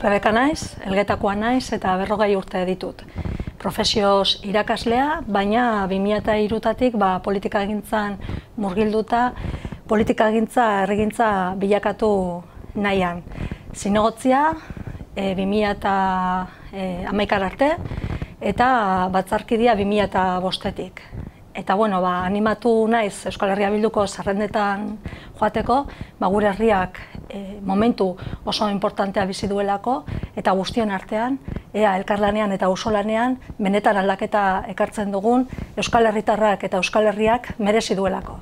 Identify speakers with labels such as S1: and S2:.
S1: Rebeka naiz, Elgetakoa naiz eta 40 urte ditut. Profesioz irakaslea, baina 2003-tik politikagintzan murgilduta, politikagintza, herrigintza bilakatu nahian. Zinegotzia 2011 arte eta batzarkidia 2005-tik. Eta animatu naiz Euskal Herria Bilduko zerrendetan joateko, gure herriak momentu oso importantea bizi duelako eta guztion artean, ea elkarlanean eta auzolanean benetan aldaketa ekartzen dugun Euskal Herritarrak eta Euskal Herriak merezi duelako.